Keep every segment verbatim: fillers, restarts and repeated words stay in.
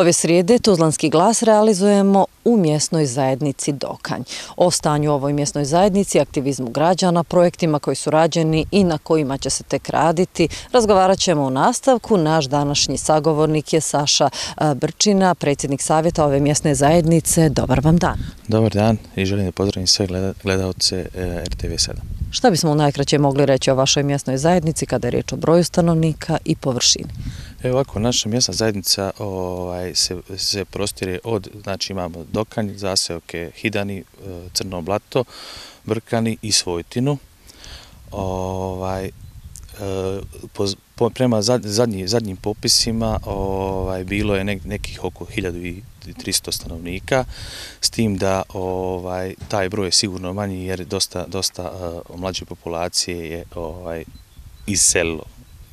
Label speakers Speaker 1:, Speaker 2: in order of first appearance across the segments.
Speaker 1: Ove srijede Tuzlanski glas realizujemo u mjesnoj zajednici Dokanj. O stanju u ovoj mjesnoj zajednici, aktivizmu građana, projektima koji su rađeni i na kojima će se tek raditi, razgovarat ćemo u nastavku. Naš današnji sagovornik je Saša Brčina, predsjednik savjeta ove mjesne zajednice. Dobar vam dan.
Speaker 2: Dobar dan i želim da pozdravim sve gledalce R T V sedam.
Speaker 1: Šta bismo najkraće mogli reći o vašoj mjesnoj zajednici kada je riječ o broju stanovnika i površini?
Speaker 2: Evo ovako, naša mjesna zajednica ovaj, se, se prostire od, znači imamo Dokanj, zaseoke Hidani, Crno Blato, Brkani i Svojtinu. Ovaj, po, po, prema zadnji, zadnjim popisima ovaj, bilo je ne, nekih oko hiljadu tristo stanovnika, s tim da ovaj, taj broj je sigurno manji jer dosta, dosta uh, mlađe populacije je ovaj, iselilo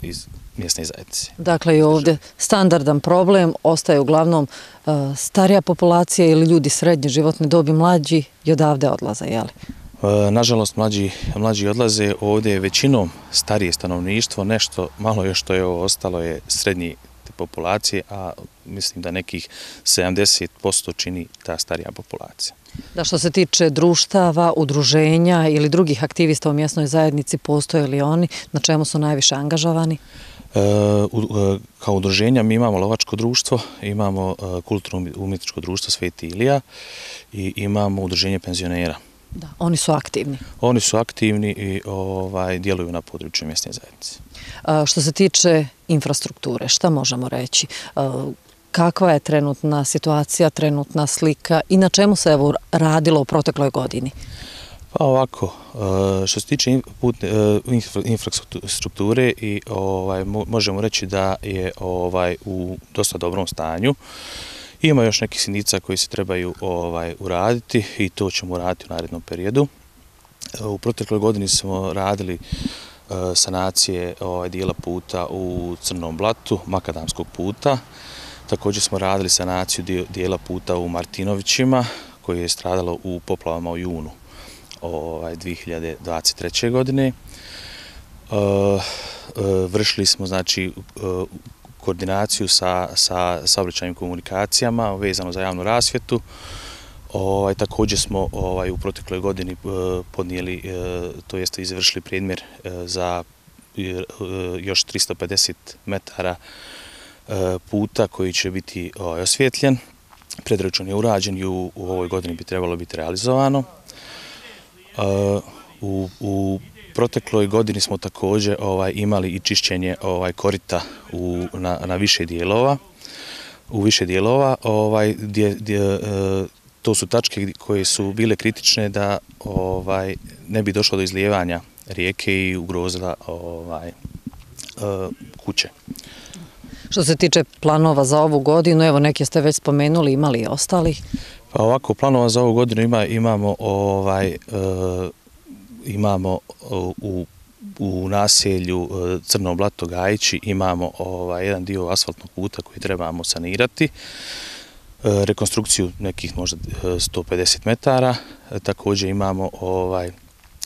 Speaker 2: iz mjesne zajednice.
Speaker 1: Dakle, i ovdje standardan problem ostaje uglavnom uh, starija populacija ili ljudi srednje životne dobi, mlađi i odavde odlaze, jeli?
Speaker 2: E, nažalost, mlađi, mlađi odlaze, ovdje je većinom starije stanovništvo, nešto malo još što je ovo ostalo je srednji populacije, a mislim da nekih sedamdeset posto čini ta starija populacija.
Speaker 1: Da, što se tiče društava, udruženja ili drugih aktivista u mjesnoj zajednici, postoje li oni, na čemu su najviše angažovani?
Speaker 2: E, u, e, kao udruženja mi imamo lovačko društvo, imamo e, kulturno-umjetničko društvo Sveti Ilija i imamo udruženje penzionera.
Speaker 1: Da, oni su aktivni.
Speaker 2: Oni su aktivni i ovaj, djeluju na području mjesne zajednice.
Speaker 1: A, što se tiče infrastrukture, šta možemo reći? A, kakva je trenutna situacija, trenutna slika i na čemu se evo radilo u protekloj godini?
Speaker 2: Pa ovako, što se tiče putne, infrastrukture i ovaj, možemo reći da je ovaj, u dosta dobrom stanju. Ima još nekih sitnica koji se trebaju ovaj, uraditi i to ćemo uraditi u narednom periodu. U protekloj godini smo radili uh, sanacije ovaj, dijela puta u Crnom Blatu, makadamskog puta. Također smo radili sanaciju dijela puta u Martinovićima koji je stradalo u poplavama u junu ovaj, dvije hiljade dvadeset treće. godine. Uh, uh, vršili smo znači uh, koordinaciju sa, sa saobraćajnim komunikacijama vezano za javnu rasvjetu. Ovaj, također smo ovaj, u protekloj godini uh, podnijeli, uh, to jeste izvršili predmjer uh, za uh, još tristo pedeset metara uh, puta koji će biti uh, osvjetljen. Predračun je urađen i u, u ovoj godini bi trebalo biti realizovano. Uh, u, u protekloj godini smo također ovaj, imali i čišćenje ovaj, korita u, na, na više dijelova. U više dijelova ovaj, gdje, gdje, e, to su tačke koje su bile kritične da ovaj, ne bi došlo do izlijevanja rijeke i ugrozila ovaj, e, kuće.
Speaker 1: Što se tiče planova za ovu godinu, evo neke ste već spomenuli, imali i ostali?
Speaker 2: Pa ovako, planova za ovu godinu ima, imamo ovaj, e, imamo u, u naselju Crno Blato Gajići imamo ovaj, jedan dio asfaltnog puta koji trebamo sanirati, rekonstrukciju nekih možda sto pedeset metara, također imamo ovaj,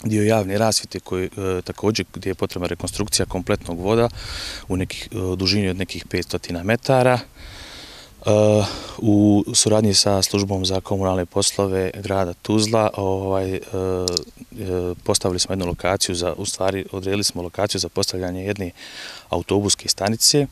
Speaker 2: dio javne rasvjete koji također gdje je potrebna rekonstrukcija kompletnog voda u nekih, dužini od nekih petsto metara. Uh, u suradnji sa službom za komunalne poslove grada Tuzla ovaj, uh, postavili smo jednu lokaciju, za, u stvari odredili smo lokaciju za postavljanje jedne autobuske stanice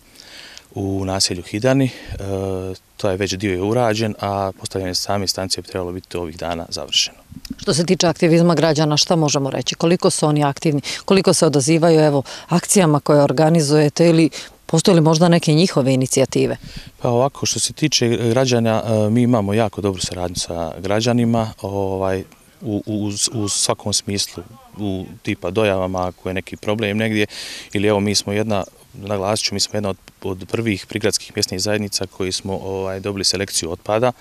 Speaker 2: u naselju Hidani. Uh, to je već dio je urađen, a postavljanje same stanice bi trebalo biti ovih dana završeno.
Speaker 1: Što se tiče aktivizma građana, šta možemo reći? Koliko su oni aktivni? Koliko se odazivaju evo, akcijama koje organizujete ili postoje li možda neke njihove inicijative?
Speaker 2: Pa ovako, što se tiče građana, mi imamo jako dobru saradnju sa građanima ovaj, u, u, u svakom smislu, u tipa dojavama ako je neki problem negdje, ili evo mi smo jedna, naglasit ću, mi smo jedna od, od prvih prigradskih mjesnih zajednica koji smo ovaj, dobili selekciju otpada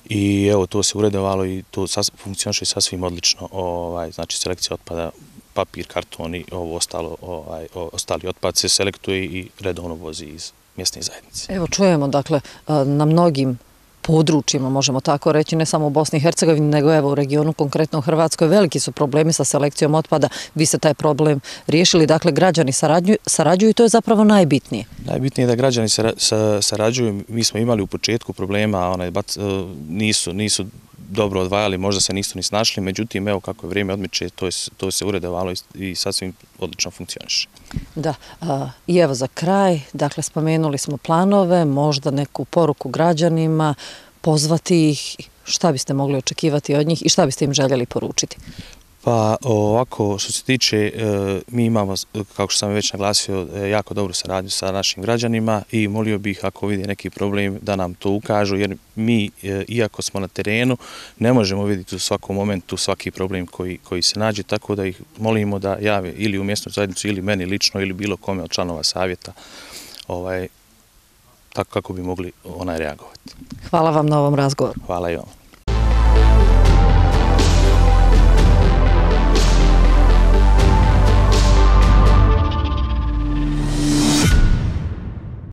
Speaker 2: i evo to se uredovalo i to sas, funkcioniše sasvim odlično, ovaj, znači selekcija otpada, papir, karton i ovo ostalo, ovaj, ostali otpad se selektuje i redovno vozi iz mjesne zajednice.
Speaker 1: Evo čujemo, dakle, na mnogim područjima, možemo tako reći, ne samo u Bosni i Hercegovini, nego evo u regionu, konkretno u Hrvatskoj, veliki su problemi sa selekcijom otpada. Vi ste taj problem riješili, dakle građani sarađuju i to je zapravo najbitnije.
Speaker 2: Najbitnije je da građani sarađuju. Mi smo imali u početku problema, nisu nisu dobro odvajali, možda se nisu ni snašli, međutim, evo kako je vrijeme odmiče, to, je, to se uredovalo i sasvim odlično funkcioniše.
Speaker 1: Da, a, i evo za kraj, dakle, spomenuli smo planove, možda neku poruku građanima, pozvati ih, šta biste mogli očekivati od njih i šta biste im željeli poručiti?
Speaker 2: Pa ovako, što se tiče, mi imamo, kako što sam već naglasio, jako dobru saradnju sa našim građanima i molio bih ako vide neki problem da nam to ukažu, jer mi, iako smo na terenu, ne možemo vidjeti u svakom momentu svaki problem koji, koji se nađe, tako da ih molimo da jave ili u mjesnu zajednicu ili meni lično ili bilo kome od članova savjeta, ovaj, tako kako bi mogli onaj reagovati.
Speaker 1: Hvala vam na ovom razgovoru.
Speaker 2: Hvala i vam.